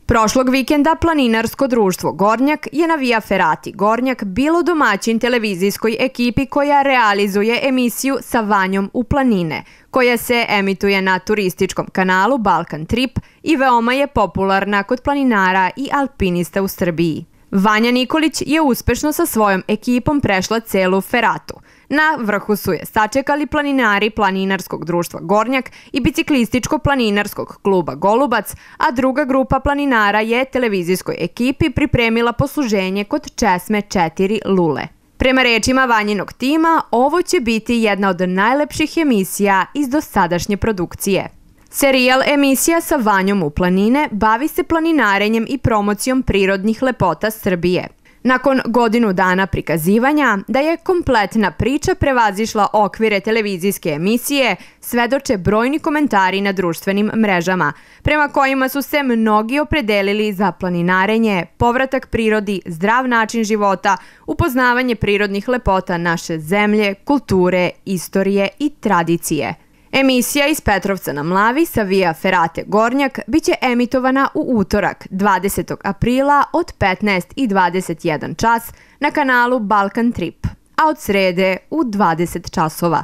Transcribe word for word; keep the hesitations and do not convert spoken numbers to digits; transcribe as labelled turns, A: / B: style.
A: Prošlog vikenda planinarsko društvo Gornjak je na Via Ferati Gornjak bilo domaćin televizijskoj ekipi koja realizuje emisiju Sa Vanjom u planine, koja se emituje na turističkom kanalu Balkan Trip i veoma je popularna kod planinara i alpinista u Srbiji. Vanja Nikolić je uspešno sa svojom ekipom prešla celu Feratu. Na vrhu su je sačekali planinari planinarskog društva Gornjak i biciklističko-planinarskog kluba Golubac, a druga grupa planinara je televizijskoj ekipi pripremila posluženje kod česme četiri Lule. Prema rečima Vanjinog tima, ovo će biti jedna od najlepših emisija iz dosadašnje produkcije. Serijal emisija Sa Vanjom u planine bavi se planinarenjem i promocijom prirodnih lepota Srbije. Nakon godinu dana prikazivanja, da je kompletna priča prevazišla okvire televizijske emisije, svedoče brojni komentari na društvenim mrežama, prema kojima su se mnogi opredelili za planinarenje, povratak prirodi, zdrav način života, upoznavanje prirodnih lepota naše zemlje, kulture, istorije i tradicije. Emisija iz Petrovca na Mlavi sa Via Ferate Gornjak biće emitovana u utorak, dvadesetog aprila od petnaest i dvadeset jedan čas na kanalu Balkan Trip, a od srede u dvadeset časova.